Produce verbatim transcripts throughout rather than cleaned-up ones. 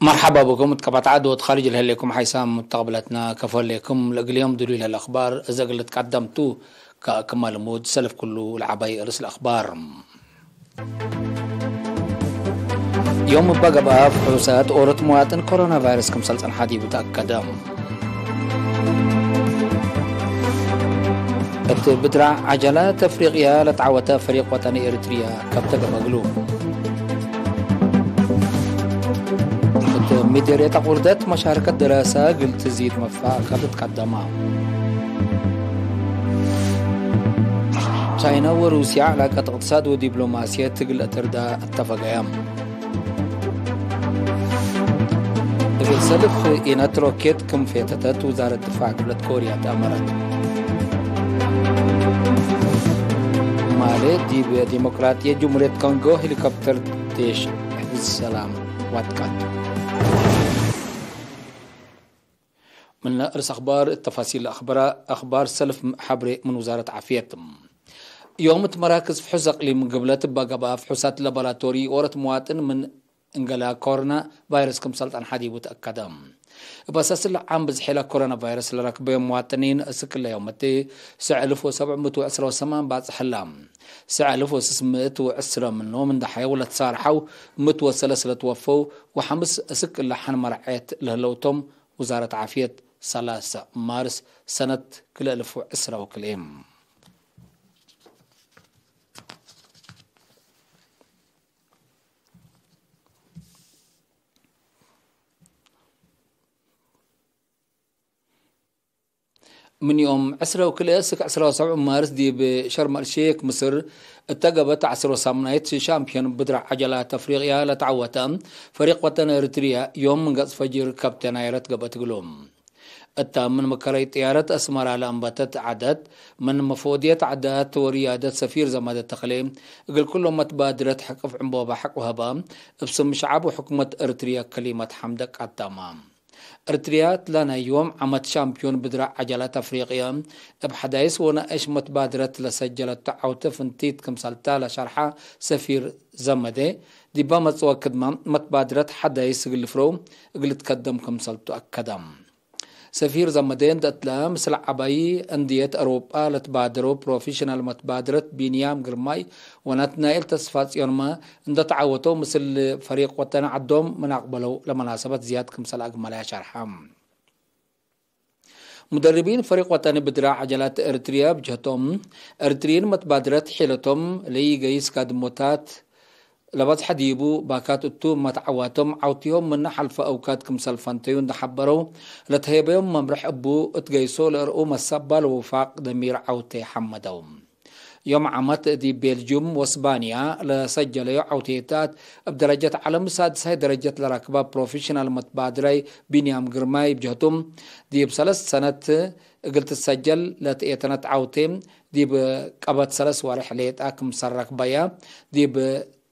መርሐባ ብኩም እት ቀበት ዐድ ወእት ካርጅ ለህሌኩም ሓይሳም ሙተቅብለትና ከፎ ህሌኩም። ለእግል ዮም ድሉይ ለህለ አክባር እዘ እግል ልትቀደም ቱ። ከክመ ልሙድ ሰልፍ ክሉ ለዐባይ ርእስ ለአክባር። ዮም እበ ገብአ ፍሑሳት ኦሮት መዋጥን ኮሮና ቫይረስ ክምሰል ጸንሐ ዲቡ ተአከደ። እት ብድራዕ ዐጀላት አፍሪቅያ ለተዐወተ ፈሪቅ ወጠኒ ኤሪትርያ ከብተ ገመግሉ። እት ሚደርየት አቁርደት መሻርከት ደራሰ እግል ትዚድ መፋ ከብት ቀደማ። ቻይና ወሩስያ ዕላቀት እቅትሳድ ወዲፕሎማስየት እግል አተርዳ አተፈገያ። እግል ሰልፍ ኢነት ሮኬት ክም ፌተተት ውዛረት ድፋዕ ዶለት ኮርያ ተአመረት። ማሌ ዲብ ዲሞቅራጥየት ጅምሁርየት ኮንጎ ሄሊኮፕተር ዴሽ ሕፍዝ ሰላም ዋትቃት። ምነ እርስ አክባር እት ተፋሲል አክበራ፣ አክባር ሰልፍ ሐብሬ ምን ውዛረት ዓፍየት። ዮም እት መራክዝ ፍሑስ አቅሊም ግብለት እበ ገብአ ፍሑሳት ላቦራቶሪ ኦሮት መዋጥን ምን እንገላ ኮሮና ቫይረስ ክምሰል ጸንሐ ዲቡ ተአከደ። እብ አሳስለ ዓም ብዝሒ ለኮሮና ቫይረስ ለረክበዮም መዋጥኒን እስክ እለ ዮም እት ሰዕ እልፍ ወሰብዕ ምእት ወዕስረ ወሰማን ባጽሕ ህላ። ሰዕ እልፍ ወስስ ምእት ወዕስረ ምኖም እንደ ሐየው ለትሳርሐው፣ ምእት ወሰለስ ለትወፈው፣ ወሐምስ እስክ እለ ሐን መርዐየት ለህለውቶም ውዛረት ዓፍየት ሰላሰ ማርስ ሰነት ክልኤ እልፍ ወዕስረ ወክልኤ። ምን ዮም ዕስረ ወክልኤ እስክ ዕስረ ወሰብዕ ማርስ ዲብ ሸርም አልሼክ ምስር እተ ገብአት ዐስር ወሳምናይት ሻምፒዮን ብድር ዐጀላት አፍሪቅያ ለተዐወተ ፈሪቅ ወጠን ኤሪትርያ ዮም ምን ገጽ ፈጅር ከብተ ናይረት ገብአት እግሉ። እታ ምን መከረይ ጥያረት አስመራ ለአንበተት ዐደት፣ ምን መፎድየት ዐዳት ወርያደት ሰፊር ዘመደ ተክሌ፣ እግል ኩሎም መትባድረት ሕቅፍ ዕንቦባ ሐቅ ወሀባ፣ እብ ስም ሸዐብ ወሕኩመት እርትርየ ከሊመት ሐምደ ቀደማ። እርትርያ እትላ ናይ ዮም ዓመት ሻምፒዮን ብድረ ዐጀላት አፍሪቅየ፣ እብ ሐዳይስ ወነአሽ መትባድረት ለሰጀለቱ ዐውተ ፍንቲት ክምሰልታ ለሸርሐ ሰፊር ዘመደ፣ ዲባ መጽወ ክድመ መትባድረት ሐዳይስ እግል ልፍረው እግል ልትከደም ክምሰልቱ አከደ። ሰፊር ዘመዴ እንዴ እትለ፣ ምስል ዐባይ አንድየት አውሮጳ ለትባደረው ፕሮፌሽናል መትባድረት ቢንያም ግርማይ ወናትናኤል ተስፋጽዮንመ እንዴ ተዓወተው፣ ምስል ፈሪቅ ወጠን ዐዶም ምን አቅበለው ለመናሰበት ዝያድ ክምሰል አግመለያ ሸርሐ። ሙደርቢን ፈሪቅ ወጠን ብድረ ዐጀላት ኤሪትርያ ብጅሀቶም፣ ኤሪትርይን መትባድረት ሒለቶም ለኢገይስ ካድሞታት ለበጽሐ ዲቡ ባካት እቱ፣ መትዓዋቶም ዐውቲሆም ምነ ሐልፈ አውካድ ክምሰል ፈንተዩ እንዴ ሐበረው፣ ለተሄበዮም መምርሕ እቡ እት ገይሶ ለእርኡ መሰባል ወውፋቅ ደሚር ዐውቴ ሐመደው። ዮም ዓመት ዲብ ቤልጁም ወስባንያ ለሰጀለዮ ዐውቴታት፣ እብ ደረጀት ዐለም ሳድሳይ ደረጀት ለረክበ ፕሮፌሽናል መትባድራይ ቢንያም ግርማይ ብጀህቱ፣ ዲብ ሰለስ ሰነት እግል ትሰጀል ለትኤተነት ዐውቴ፣ ዲብ ቀበት ሰለስ ወሬሕ ሌጣ ክምሰል ረክበያ፣ ዲብ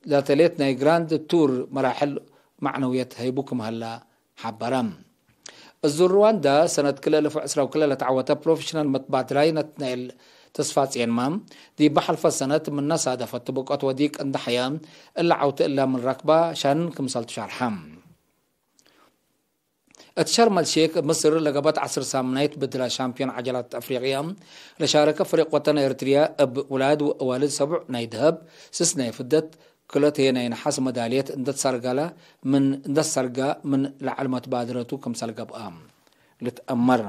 ለተሌት ናይ ግራንድ ቱር መራሕል መዕነውየት ህይቡ ክም ሀላ ሐበረ። እዙ ሩዋንዳ ሰነት ክልኤ እልፍ ወዕስራ ወክልኤ ለተዐወተ ፕሮፌሽናል መትባድራይ ናትናኤል ተስፋጽዮንመ፣ ዲብ ሐልፈ ሰነት ምነ ሳደፈት ብቆት ወዲቅ እንደ ሐያ፣ እለ ዐውቴ እለ ምን ረክባ ሻንን ክምሰልቱ ሸርሐ። እት ሸርም አልሼክ ምስር ለገበት ዐስር ሳምናይት ብድረ ሻምፒዮን ዐጀላት አፍሪቅያ ለሻረከ ፍሪቅ ወጠን ኤሪትርያ እብ ውላድ ወአዋልድ ሰቡዕ ናይ ደሀብ፣ ስስ ናይ ፍደት፣ ክልኦት ህዬ ናይ ነሐስ መዳልየት እንዴ ተሰርገለ ምን፣ እንዴ ተሰርገ ምን ለዐል መትባድረቱ ክምሰል ገብአ ልትአመር።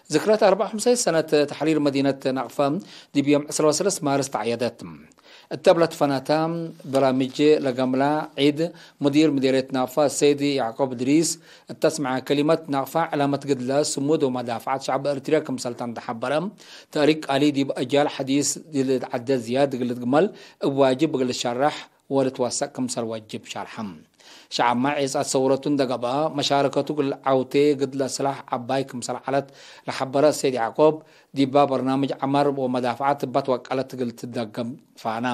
ዝክረት አርበዕ ወሐምሳይን ሰነት ተሕሪር መዲነት ናቅፋ ዲብ ዮም ዕስራ ወሰለስ ማርስ ተዐየደት። እተ እብ ለትፈናተ በራምጅ ለገምላ ዒድ፣ ሙዲር ምዴርየት ናቅፋ ሰይድ ያዕቆብ እድሪስ እተ አስመዐ ከሊመት፣ ናቅፋ ዕላመት ግድለ፣ ስሙድ ወመዳፍዐት ሸዕብ ኤሪትርያ ክምሰልተ እንዴ ሐበረ፣ ተእሪክ ቃሊ ዲብ አጅያል ሐዲስ ለልትዐደድ ዝያድ እግል ልትግመል እብ ዋጅብ እግል ልሸረሕ ወልትወሰቅ ክምሰል ወጅብ ሸርሐ። ሸዐብመ ዔጻት ሰውረቱ እንዴ ገብአ፣ መሻረከቱ እግል ዐውቴ ግድለ ስላሕ ዐባይ ክምሰል ዐለት ለሐበረ ሰይድ ያዕቆብ፣ ዲባ በርናምጅ ዐመር ወመዳፍዐት እበ ትወቀለት እግል ትደገም ፋነ።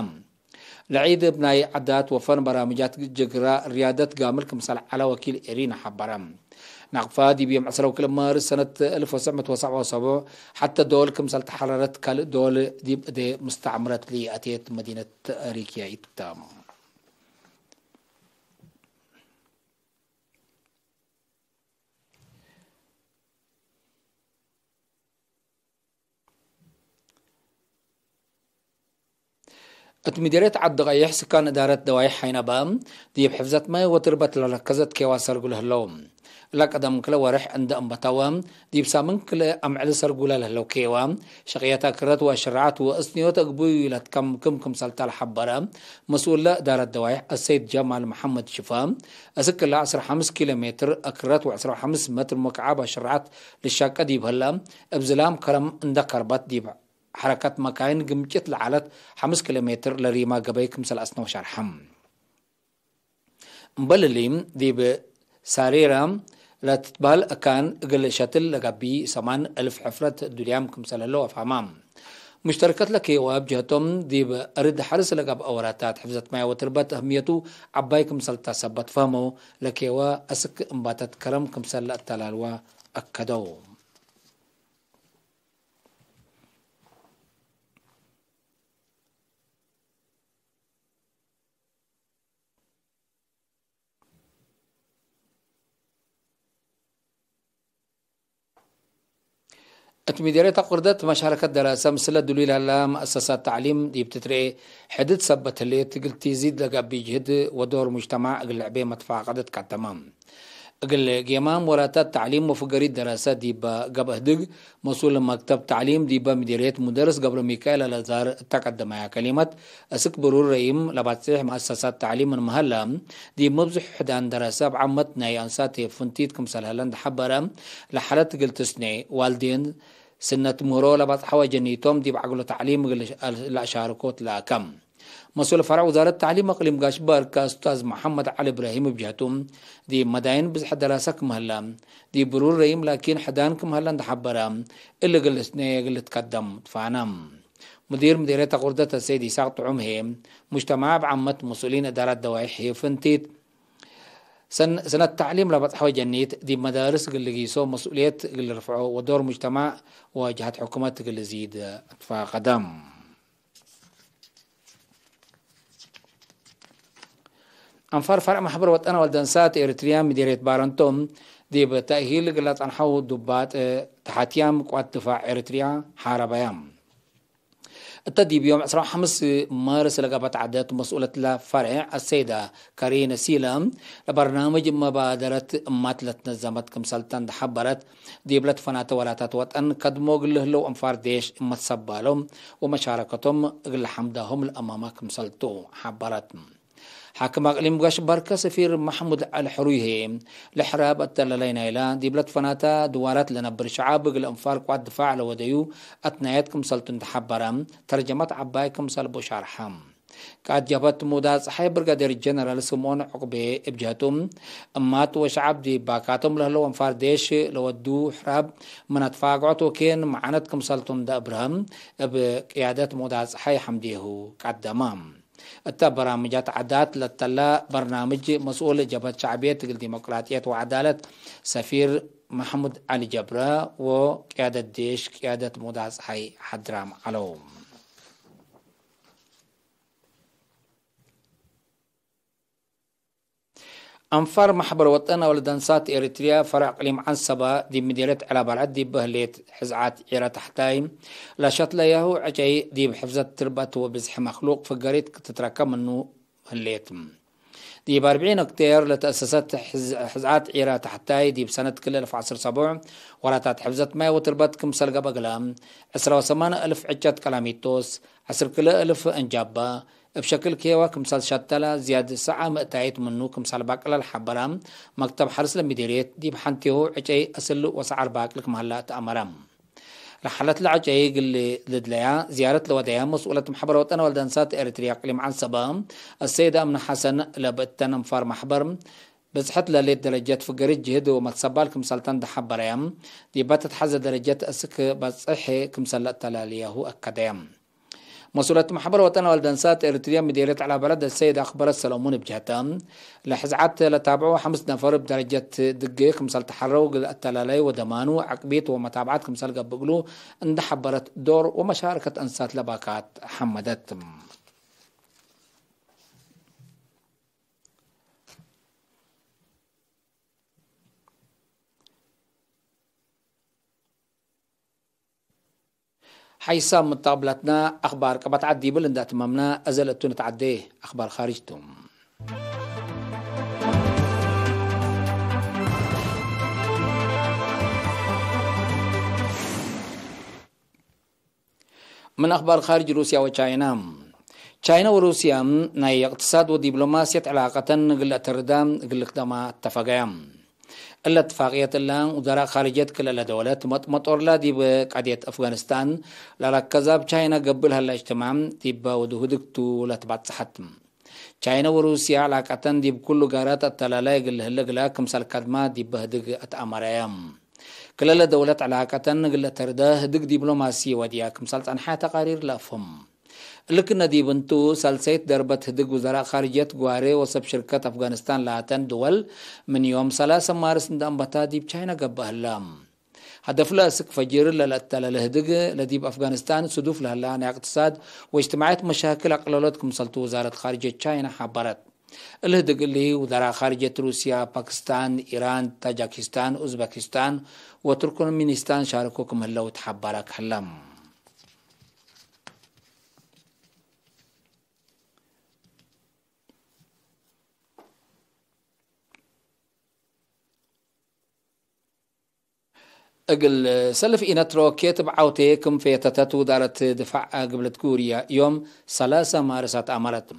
ለዒድ እብ ናይ ዐዳት ወፈን በራምጃት ጅግረ ርያደት ጋምል ክምሰል ዐለ ወኪል ኤሪና ሐበረ። ናቅፋ ዲብ ዮም ዕስራ ወክልኤ ማርስ ሰነት አልፍ ወትሰዕ ምእት ወሰብዓ ወሰቡዕ ሐቴ ዶል ክምሰል ተሐረረት፣ ካልእ ዶል ዲብ እዴ ሙስተዕምረት ለይአቴት መዲነት ሪክ ያኢት ተ። እት ምዴርየት ዐዲ ቀይሕ፣ ስካን እዳረት ደዋይሕ ሀይነባ፣ ዲብ ሕፍዘት ማይ ወትርበት ለረከዘት ኬዋ ሰርጉ ለህለው። እለ ቀደም ክለ ወሬሕ እንደ እንበተወ፣ ዲብ ሳምን ክለ አምዕል ሰርጉ ለለህለው ኬዋ፣ ሸቅየት አክረት ወአሽራዐት ወእስንዮት እግቡይ ለትከምክም ክምሰልተ ለሐበረ፣ መስኡል እዳረት ደዋይሕ አሰይድ ጀማል መሐመድ ሽፋ፣ እስክ እለ ዐስር ወሐምስ ኪሎ ሜትር አክረት ወዐስር ወሐምስ መትር ሙክዓብ አሽራዐት ልሻቀ ዲብ ህለ፣ እብ ዝላም ከረም እንደ ከርበት ዲብ ሐረከት መካይን ግምጭት ለዐለት ሐምስ ኪሎ ሜትር ለሪማ ገበይ ክምሰል አስነው ሸርሐ። እምበል እሊ፣ ዲብ ሳሬራ ለትትበህል አካን እግል ሸትል ለገብእ ሰማን እልፍ ሕፍረት ዱልያም ክምሰል ህለው አፍሀማ። ሙሽተረከት ለኬዋ እብ ጀህቶም፣ ዲብ አርድ ሐርስ ለገብአ ወራታት ሕፍዘት ማይ ወትርበት አህምየቱ ዐባይ ክምሰል ተ ሰበት ፈህመው፣ ለኬዋ አስክ እምባተት ከረም ክምሰል ለአተላልዋ አከደው። እት ምዴርየት አቁርደት መሻረከት ደራሰ ምስለ ድሉይ ለህላ መአሰሳት ተዕሊም ዲብ ትትርኤ ሕድት ሰበት ህሌት፣ እግል ቲዚድ ለገብእ ጅህድ ወዶር ሙጅተማዕ እግል ልዕቤ መትፋቀደት ቀደመ። እግል ጌማም ወራታት ተዕሊም ወፍገሪት ደራሰ ዲበ ገብአ ህድግ፣ መስኡል መክተብ ተዕሊም ዲበ ምዴርየት ሙደርስ ገብረሚካኤል አልአዛር እተ ቀደመያ ከሊመት፣ እስክ ብሩር ረይም ለባጽሕ መአሰሳት ተዕሊም ምን መሀላ፣ ዲብ መብዝሑ ሕዳን ደራሰ እብ ዓመት ናይ አንሳት ፍንቲት ክምሰል ሀለ እንደ ሐበረ፣ ለሓለት እግል ትስኔ፣ ዋልዴን ስነት ምህሮ ለባጽሐወ ጀኒቶም ዲብ ዐግሎ ተዕሊም እግል ለአሻርኮ ትለአከ። መስኡል ፈርዕ ውዛረት ተዕሊም አቅሊም ጋሽ ባርካ እስታዝ መሐመድ ዐሊ እብራሂም እብ ጀህቱ፣ ዲብ መዳይን ብዝሐ ደራሰ ክም ሀለ፣ ዲብ ብሩር ረይም ላኪን ሕዳን ክም ሀለ እንደ ሐበረ፣ እሊ እግል ልስኔ እግል ልትከደም ትፋነ። ሙዲር ምዴርየት አቁርደት አሰይድ ኢሳቅ ጥዑም ህዬ፣ ሙጅተማዕ እብ ዓመት መስኡሊን እዳራት ደዋይሕ ህዬ ፍንቲት፣ ሰን-፣ ሰነት ተዕሊም ለበጽሐወ ጀኒት፣ ዲብ መዳርስ እግል ልጊሶ መስኡልየት እግል ልርፍዖ ወዶር ሙጅተማዕ ወጀሀት ሕኩመት እግል ልዚድ ትፋቀደም። አንፋር ፈርዕ ማሕበር ወጠን ወልደንሳት ኤሪትርያ ምዴርየት ባረንቶ፣ ዲብ ተእሂል እግል ለጸንሐው ዱባጥ ተሓትያም ቅዋት ድፋዕ ኤሪትርያ ሓረበያም። እተ ዲብ ዮም ዕስራ ወሐምስ ማርስ ለገብአት ዐደት መስኡለት ለፈርዕ አሰይዳ ካሪነ ሲላ፣ ለበርናምጅ መባደረት እማት ለትነዘመት ክምሰልተ እንደ ሐበረት፣ ዲብ ለትፈናተ ወላታት ወጠን ከድሞ እግል ለህለው አንፋር ዴሽ እመት ሰባሎም ወመሻረከቶም እግል ለሐምዳሆም ለአማማ ክምሰልቱ ሐበረት። ሓክም አቅሊም ጋሽ ባርከ ሰፊር መሕሙድ ዐሊ ሕሩይ ህዬ፣ ለሕራብ አተለላይ ናይላ ዲብ ለትፈናተ ድዋራት ለነብር ሸዓብ እግል አንፋር ቅዋት ድፋዕ ለወደዩ አትናየት ክምሰልቱ እንደ ሐበረ፣ ተርጀመት ዐባይ ክምሰል ቡ ሻርሐ። ቃእድ ጀብሀት ሙዳ ጸሓይ ብርጋዴር ጀነራል ስምኦን ዑቅቤ እብ ጀህቱ፣ እማት ወሸዓብ ዲብ ባካቶም ለህለው አንፋር ዴሽ ለወዱ ሕራብ ምን አትፋግዖት ወኬን መዓነት ክምሰልቱ እንደ አብርሀ፣ እብ ቅያደት ሙዳ ጸሓይ ሐምዴሁ ቀደመ። እተ በራምጃት ዐዳት ለተለ በርናምጅ መስኡል ጀብሀት ሸዕብየት እግል ዲሞቅራጥየት ወዐዳለት ሰፊር መሕሙድ ዐሊ ጀብረ ወቅያደት ዴሽ ቅያደት ሙዳ ጸሓይ ሐድራም ዐለው። አንፋር ማሕበር ወጠን አውለድ አንሳት ኤሪትርያ ፈርዕ እቅሊም ዐንሰበ ዲብ ምዴርየት ዕላባልዐት ዲብ ህሌት ሕዝዓት ዒረ ታሕታይ ለሸትለያሁ ዕጨይ ዲብ ሕፍዘት ትርበት ወብዝሒ መክሉቅ ፍገሪት ክትትረከብ ምኑ ህሌት። ዲብ አርብዒን ኦክቴር ለተአሰሰት ሕዝ-፣ ሕዝዓት ዒረ ታሕታይ ዲብ ሰነት ክልኤ አልፍ ወዐስር ሰቡዕ ወራታት ሕፍዘት ማይ ወትርበት ክምሰል ገብአ እግለ፣ ዕስራ ወሰማን አልፍ ዕጨት ቀላሚቶስ፣ ዐስር ክልኤ አልፍ እንጃባ፣ እብ ሸክል ኬዋ ክምሰል ሸተለ፣ ዝያድ ሰዓ ምእታይት ምኑ ክምሰል ባቅለ ለሐበረ መክተብ ሐርስ ለምዴርየት፣ ዲብ ሐንቴሁ ዕጨይ አስል ወሰዓር ባቅል ክም ሀለ ተአመረ። ለሓለት ለዐጨይ እግል ልድለያ ዝያረት ለወደያ መስኡለት መሕበር ወጠን ወልደንሳት ኤሪትርያ እቅሊም ዐንሰበ፣ አሰይድ አምነ ሐሰን፣ ለብእተን አንፋር መሕበር ብጽሐት ለሌት ደረጀት ፍገሪት ጅህድ ወመትሰባል ክምሰልተን ደሐበረያ፣ ዲበ ተትሐዘ ደረጀት እስክ በጽሕ ክምሰል ለአተላልያሁ አከደያ። መሱለት መሕበር ወጠን ወልድ አንሳት ኤሪትርያ ምዴርየት ዐላ በለድ ሰይድ አክበረ ሰለሙን እብ ጀህተ፣ ለሕዝዓት ለታብዑ ሐምስ ነፈር እብ ደረጀት ድጌ ክምሰል ተሐረው እግል አተላላይ ወደማኑ ዐቅቢት ወመታብዓት ክምሰል ገብእ እግሉ እንደ ሐበረት ዶር ወመሻረከት አንሳት ለባካት ሐመደት። ሐይሳም ምተቅብለትነ አኽባር ቀበት ዐድ ዲብል እንደ አትመምነ፣ እዘ ለእቱ ንትዐዴ አኽባር ካርጅ ቱ። ምን አኽባር ካርጅ ሩስያ ወቻይና። ቻይና ወሩስያ ናይ እቅትሳድ ወዲብሎማስየት ዕላቀተን እግል ለአተርዳ እግል ልክደማ አተፈገያ። እለ እትፋቅየት እለ፣ ውዘራእ ካርጅየት ክልኤ ደወለት መጥመጦርላ ዲብ ቀድየት አፍጋኒስታን ለረከዛብ ቻይና ገብእ ለሀለ እጅትማዕ ዲበ ወዱ ህድግ ቱ ለትባጽሐት። ቻይና ወሩስያ ዕላቀተን ዲብ ኩሉ ጋራት አተላላይ እግል ለህለ እግላ ክምሰል ከድማ ዲበ ህድግ አትአመረየ። ክልኤ ደወለት ዕላቀተን እግል ለተርደ ህድግ ዲብሎማሲ ወድያ ክምሰል ጸንሐ ተቃሪር ለአፍህም። እሊ ክነ ዲብ እንቱ፣ ሳልሰይት ደርበት ህድግ ውዘራእ ካርጅየት ግዋሬ ወሰብ ሽርከት አፍጋኒስታን ላተን ድወል፣ ምን ዮም ሰላሰ ማርስ እንደ አንበታ ዲብ ቻይና ገብአ ህለ። ሀደፍለ አስክ ፈጅር ለለአተለለ ህድግ፣ ለዲብ አፍጋኒስታን ስዱፍ ለህላ ናይ እቅትሳድ ወእጅትማዕየት መሻክል አቅለሎት ክምሰልቱ ውዛረት ካርጅየት ቻይና ሐበረት። እሊ ህድግ እሊ፣ ውዘራእ ካርጅየት ሩስያ፣ ፓኪስታን፣ ኢራን፣ ታጃኪስታን፣ ኡዝበኪስታን ወቱርክሚኒስታን ሻርኮ ክም ህለው ተሐበረ ከህለ። እግል ሰልፍ ኢነት ሮኬት እብ ዐውቴ ክም ፌተተት ውዳረት ድፋዕ ግብለት ኩርያ፣ ዮም ሰላሰ ማርስ አትአመረት።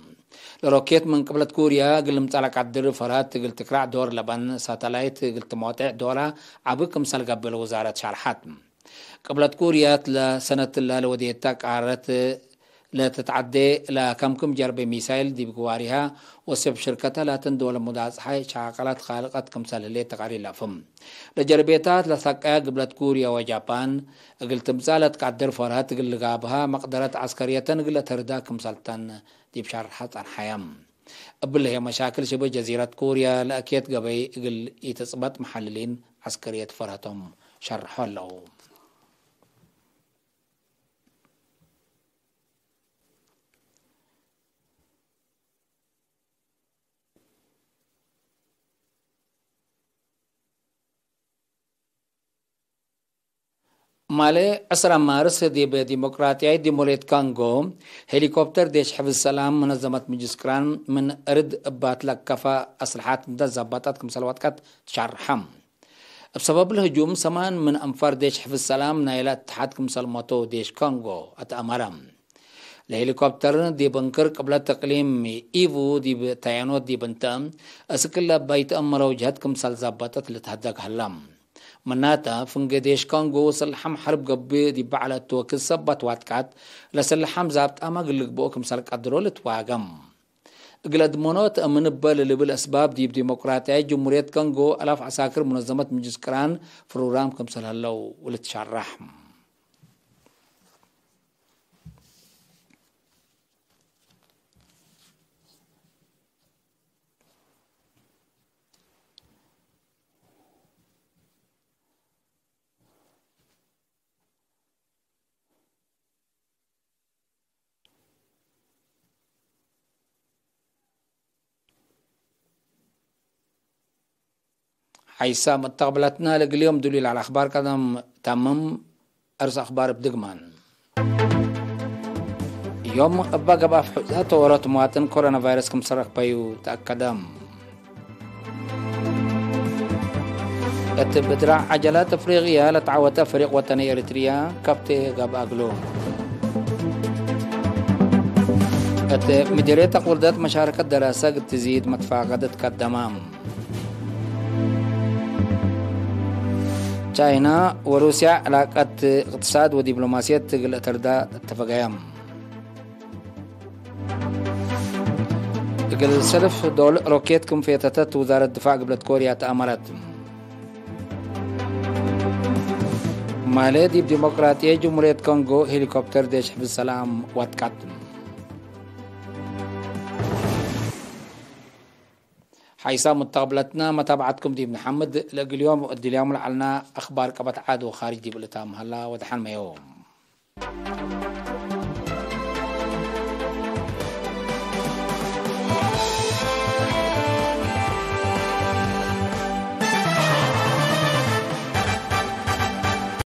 ለሮኬት ምን ቅብለት ኩርያ እግል ልምጸእ ለቀድር ፈርሀት እግል ትክራዕ ዶር ለበን ሳተላይት እግል ትሞጤዕ ዶራ ዐቢ ክምሰል ገብእ ለውዛረት ሸርሐት። ቅብለት ኩርያ እትለ ሰነት እለ ለወዴተ ቃረት ለትትዐዴ ለከምክም ጀርቤ ሚሳይል ዲብ ግዋሪሃ ወሰብ ሽርከተ ላተን ደወል ሙዳጽሐ ሻቀላት ካልቀት ክምሰል ህሌት ተቃሪር ለአፍህም። ለጀርቤታት ለሰቀያ ግብለት ኩርያ ወጃፓን እግል ትምጻእ ለትቀድር ፈርሀት እግል ልጋብሃ መቅደረት ዐስከርየተን እግል ለተርዳ ክምሰልተን ዲብ ሸርሐ ጸንሐየ። እብሊ ህዬ መሻክል ሽብህ ጀዚረት ኩርያ ለአኬት ገበይ እግል ኢትጽበጥ መሐልሊን ዐስከርየት ፈርሀቶም ሸርሖ ህለው። ማሌ ዕስራ ማርስ ዲብ ዲሞቅራጥያይት ዲሞሌት ካንጎ ሄሊኮፕተር ዴሽ ሕፍዝ ሰላም መነዘመት ምጅልስ ቅራን ምን እርድ እባት ለከፈ አስልሓት እንተ ዘበጠት ክምሰል ወጥቀት ትሸርሐ። እብ ሰበብ ለህጁም ሰማን ምን አንፋር ዴሽ ሕፍዝ ሰላም ናይለ እትሓድ ክምሰል ሞተው ዴሽ ኮንጎ አትአመረ። ለሄሊኮፕተር ዲብ እንክር ቅብለት እቅሊም ኢቩ ዲብ ታያኖት ዲብ እንተ እስክለ እባ ኢተአመረው ጀህት ክምሰል ዘበጠት ልትሀደግ ሀላ። ምናተ፣ ፍንጌ ዴሽ ኮንጎ ወስልሐም ሐርብ ገብእ ዲብ በዐለት ወክድ ሰበት ዋትቃት ለስልሐም ዛብጣመ እግል ልግብኦ ክምሰል ቀድሮ ልትዋገም። እግል አድመኖት እምን እበ ለልብል አስባብ ዲብ ዲሞቅራጥያይት ጅሙርየት ኮንጎ አላፍ ዐሳክር ሙነዘመት ምጅልስ ቅራን ፍሩራም ክምሰል ሀለው ወልትሸረሕ። ሐይሳም እተቅብለትነ ለእግል ዮም ዱሊል ዐለ አኽባር ቀደም ተምም። አርስ አኽባር እብ ድግማን። ዮም እበ ገብአ ፍሑዛት ወሮት ምዋጥን ኮሮና ቫይረስ ክምሰል ረክበዩ ተአከደ። እት ብድራዕ ዐጀላት አፍሪቅያ ለተዐወተ ፍሪቅ ወጠኒ ኤሪትርያ ከብቴ ገብአ እግሉ። እት ምዲርየት አቅውርደት መሻረከት ደራሰ እግል ትዚድ መትፋቀደት ቀደመ። ቻይና ወሩስያ ዕላቀት እቅትሳድ ወዲብሎማስየት እግል አተርዳ እተፈገየ። እግል ሰልፍ ዶል ሮኬት ክም ፌተተት ውዛረት ድፋዕ ግብለት ኮርያ ተአመረት። ማሌ ዲብ ዲሞቅራጥየት ጅምሁርየት ኮንጎ ሄሊኮፕተር ዴሽ ሕፍዝ ሰላም ወትቀት። ሓይሳም ሙተቀብለትና መታብዓትኩም ዲብ ነሐምድ። ለእግል ዮም እድልያሙ ለዐልና አኽባር ቀበት ዓድ ወኻርጅ ዲብ ልታም ሀላ ወደሐን መዮም።